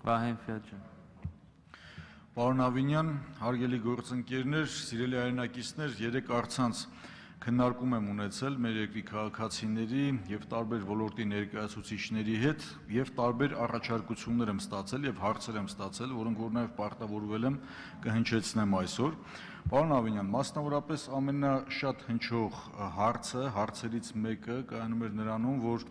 Վահեն Ֆիաջան։ Պարոն Ավինյան, հարգելի գործընկերներ, սիրելի հայրենակիցներ, երեք առցանց քննարկում եմ ունեցել մեր երկրի քաղաքացիների եւ տարբեր ոլորտի ներկայացուցիչների հետ եւ տարբեր առաջարկություններ եմ ստացել եւ հարցեր եմ ստացել, որոնք որ նաեւ պարտավորվել եմ կհնչեցնեմ այսօր։ Պարոն Ավինյան, մասնավորապես ամենաշատ հնչող հարցերից մեկը կայանում էր նրանում, որ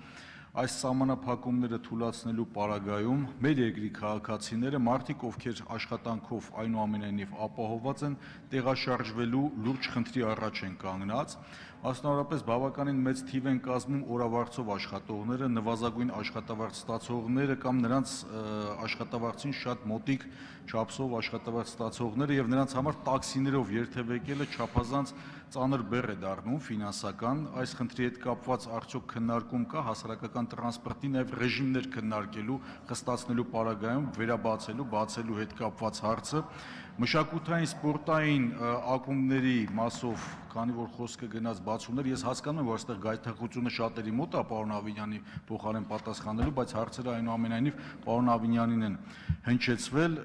այս սահմանափակումները թույլատնելու պարագայում մեր երկրի քաղաքացիները մարդիկ, ովքեր աշխատանքով այնուամենայնիվ ապահովված են, տեղաշարժվելու լուրջ խնդրի առաջ են կանգնած, մասնավորապես բավականին մեծ թիվ են կազմում օրավարձով աշխատողները, նվազագույն աշխատավարձ ստացողները կամ նրանց աշխատավարձին շատ մոտիկ չափսով աշխատավարձ ստացողները եւ նրանց համար տաքսիներով երթևեկելը չափազանց ծանր բեռ է դառնում ֆինանսական, այս խնդրի հետ կապված արդյոք քննարկում կա հասարակական տրանսպորտի նաև ռեժիմներ քննարկելու, խստացնելու պարագայում բացելու հետ կապված հարցը, մշակութային սպորտային ակումբների մասով, քանի որ խոսքը գնաց բացումներ, ես հասկանում եմ, որ այստեղ գայթակղությունը շատերի մոտ է պարոն Ավինյանի փոխարեն պատասխանելու, բայց հարցերը այնուամենայնիվ պարոն Ավինյանին են հնչեցվել,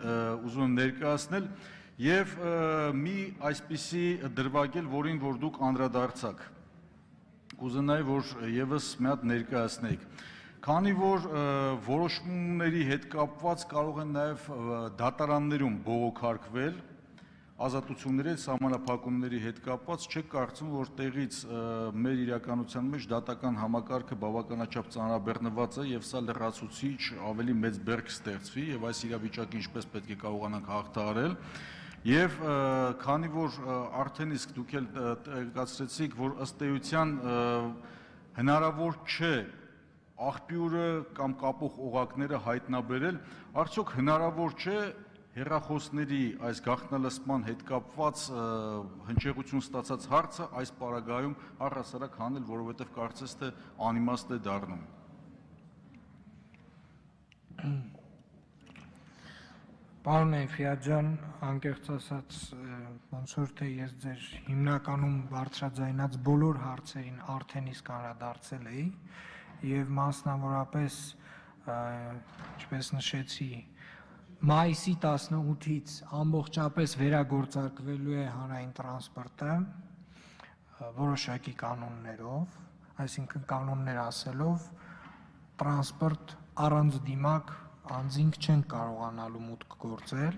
ուզում եմ ներկայացնել եւ մի այսպիսի դրվագել, որին որ դուք անդրադարձաք։ Կուզենայի, որ եւս մի հատ ներկայացնեիք։ Քանի որ որոշումների հետ կապված կարող են նաեւ դատարաններում բողոքարկվել ազատությունների սահմանափակումների հետ կապված, չեք կարծում, որ տեղից մեր իրականության մեջ դատական համակարգը բավականաչափ ծանրաբեռնված է եւ սա լրացուցիչ ավելի մեծ բեռ կստեղծվի եւ այս իրավիճակը ինչպես պետք է կարողանանք հաղթահարել։ Եվ քանի որ արդեն իսկ դուք էլ տեղեկացրեցիք, որ ըստ էության հնարավոր չէ աղբյուրը կամ կապող օղակները հայտնաբերել, արդյոք հնարավոր չէ հեռախոսների այս գաղտնալսման հետ կապված հնչեղություն ստացած հարցը այս պարագայում առհասարակ հանել, որովհետև կարծես թե անիմաստ է դառնում։ Պարոն Ֆիաջան, անկեղծ ասած, ոնց որ թե ես ձեր հիմնականում բարձրաձայնած բոլոր հարցերին արդեն իսկ անդրադարձել էի եւ մասնավորապես, ինչպես նշեցի, մայիսի 18-ից ամբողջապես վերագործարկվելու է հանրային տրանսպորտը որոշակի կանոններով, այսինքն կանոններ ասելով, տրանսպորտ առանց դիմակ անձինք չեն կարողանալու մուտք գործել,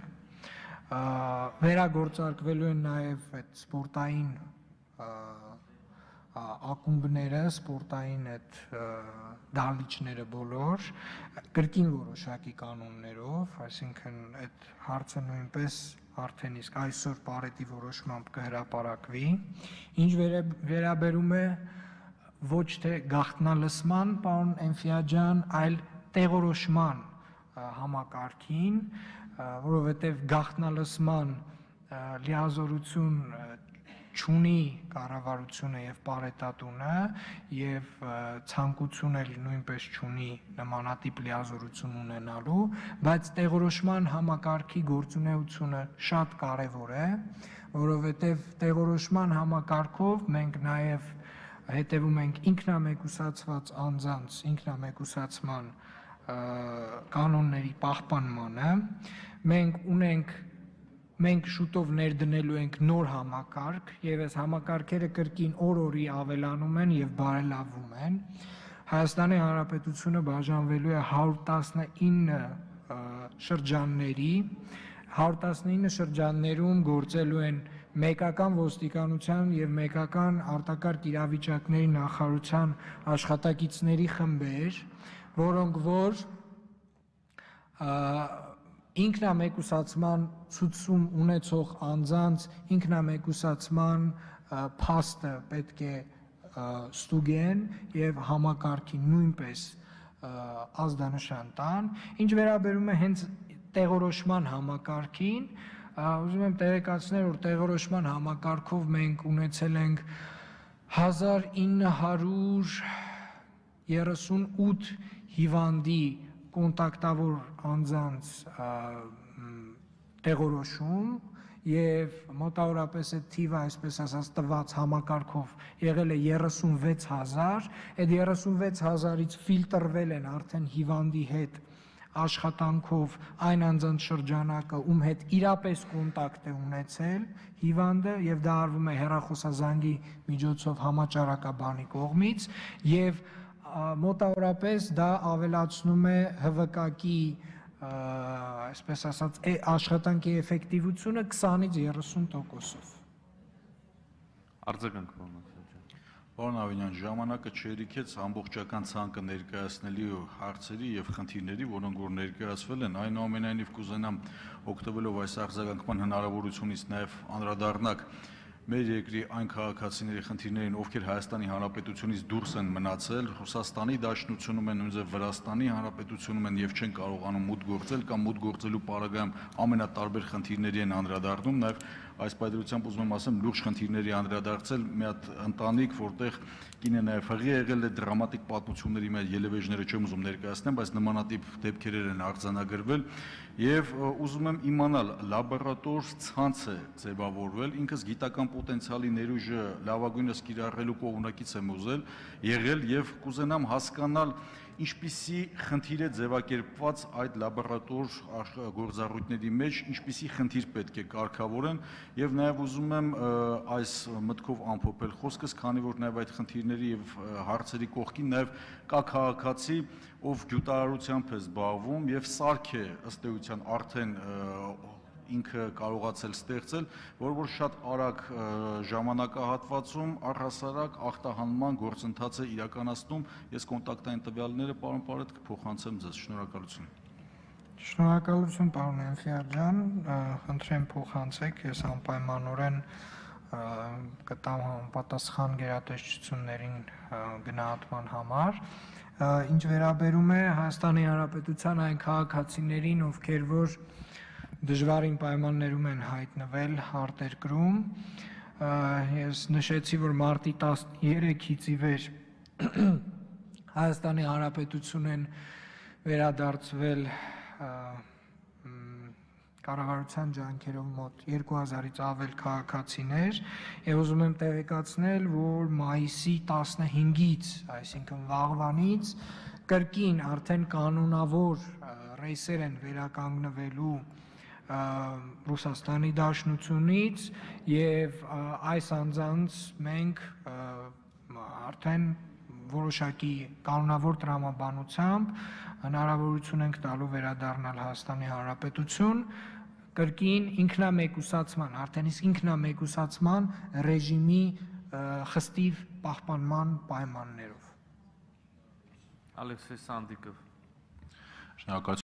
վերագործարկվելու են նաև այդ սպորտային ակումբները, սպորտային այդ դահլիճները բոլոր, կրկին որոշակի կանոններով, այսինքն այդ հարցը նույնպես արդեն իսկ այսօր պարետի որոշմամբ կհրապարակվի, ինչ վերաբերում է ոչ թե գաղտնալսման, պարոն Էնֆիաջան, այլ տեղորոշման համակարգին, որովհետև գաղտնալսման լիազորություն չունի կառավարությունը եւ պարետատունը եւ ցանկություն էլ նույնպես չունի նմանատիպ լիազորություն ունենալու, բայց տեղորոշման համակարգի գործունեությունը շատ կարեւոր է, որովհետեւ տեղորոշման համակարգով մենք նաեւ հետևում ենք ինքնամեկուսացված անձանց ինքնամեկուսացման կանոնների պահպանմանը, մենք շուտով ներդնելու ենք նոր համակարգ եւ այս համակարգերը կրկին օր-օրի ավելանում են եւ բարելավվում են։ Հայաստանի Հանրապետությունը բաժանվելու է 119 շրջանների, 119 շրջաններում գործելու են մեկական ոստիկանության եւ մեկական արտակարգ իրավիճակների նախարարության աշխատակիցների խմբեր, որոնք որ ինքնամեկուսացման ցուցում ունեցող անձանց ինքնամեկուսացման փաստը պետք է ստուգեն եւ համակարգի նույնպես ազդանշան տան, ինչ վերաբերում է հենց տեղորոշման համակարգին, ուզում եմ տեղեկացնել, որ տեղորոշման համակարգով մենք ունեցել ենք 1938 հիվանդի կոնտակտավոր անձանց տեղորոշում եւ մոտավորապես այդ թիվը, այսպես ասած, տված համակարգով եղել է 36000, այդ 36000-ից ֆիլտրվել են արդեն հիվանդի հետ աշխատանքով այն անձանց շրջանակը, ում հետ իրապես կոնտակտ է ունեցել հիվանդը, եւ դա արվում է հեռախոսազանգի միջոցով համաճարակաբանի կողմից, եւ մոտավորապես դա ավելացնում է ՀՎԿ-ի այսպես ասած աշխատանքի էֆեկտիվությունը 20-ից 30%-ով։ Արձագանք պարոն Պարոն Ավինյան, ժամանակը չերիքեց ամբողջական ցանկը ներկայացնելի հարցերի եւ խնդիրների, որոնք որ ներկայացվել են, այնուամենայնիվ կուզենամ օգտվելով այս արձագանքման հնարավորությունից նաեւ անդրադառնալ մեր երկրի այն քաղաքացիների խնդիրներին, ովքեր Հայաստանի Հանրապետությունից դուրս են մնացել, Ռուսաստանի Դաշնությունում են, նույնիսկ Վրաստանի Հանրապետությունում են եւ չեն կարողանում մուտք գործել կամ մուտք գործելու պարագայում ամենատարբեր խնդիրների են անդրադառնում, նաեւ այս պայմանությամբ ուզում եմ ասեմ լուրջ խնդիրների անդրադարձել մի հատ ընտանիք, որտեղ կինը նաև հղի եղել է դրամատիկ պատմությունների մեջ ելևէջները չեմ ուզում ներկայացնեմ, բայց նմանատիպ դեպքեր են արձանագրվել եւ ուզում եմ իմանալ լաբորատոր ցանց է ձևավորվել, ինքս գիտական պոտենցիալի ներուժը լավագույնս կիրառելու կողմնակից եմ ուզել եղել եւ կուզենամ հասկանալ ինչպիսի խնդիր է ձևակերպված այդ լաբորատոր գործառույթների մեջ, ինչպիսի խնդիր պետք է կարգավորեն եւ նաեւ ուզում եմ այս մտքով ամփոփել խոսքս, քանի որ նաեւ այդ խնդիրների եւ հարցերի կողքին նաեւ կա քաղաքացի, ով գյուտարարությամբ է զբաղվում եւ սարք է ըստ էության արդեն ինքը կարողացել ստեղծել, որ շատ արագ ժամանակահատվածում առհասարակ ախտահանման գործընթաց է իրականացնում։ Ես կոնտակտային տվյալները պարոն Պարետ կփոխանցեմ ձեզ։ Շնորհակալություն։ Շնորհակալություն պարոն Էնֆիար ջան, խնդրեմ փոխանցեք, ես անպայմանորեն կտամ համապատասխան գերատեսչություններին գնահատման համար։ Ինչ վերաբերում է Հայաստանի Հանրապետության այն քաղաքացիներին, ովքեր որ դժվարին պայմաններում են հայտնվել արտերկրում, ես նշեցի, որ մարտի 13-ից ի վեր Հայաստանի Հանրապետություն են վերադարձվել կառավարության ջանքերով մոտ 2000-ից ավել քաղաքացիներ եւ ուզում եմ տեղեկացնել, որ մայիսի 15-ից, այսինքն վաղվանից կրկին արդեն կանոնավոր ռեյսեր են վերականգնվելու Ռուսաստանի Դաշնությունից եւ այս անձանց մենք արդեն որոշակի կանոնավոր տրամաբանությամբ հնարավորություն ենք տալու վերադառնալ Հայաստանի Հանրապետություն կրկին ինքնամեկուսացման, արդեն իսկ ինքնամեկուսացման ռեժիմի խստիվ պահպանման պայմաններով։ Ալեքսեյ Սանդիկով Շնորհակալություն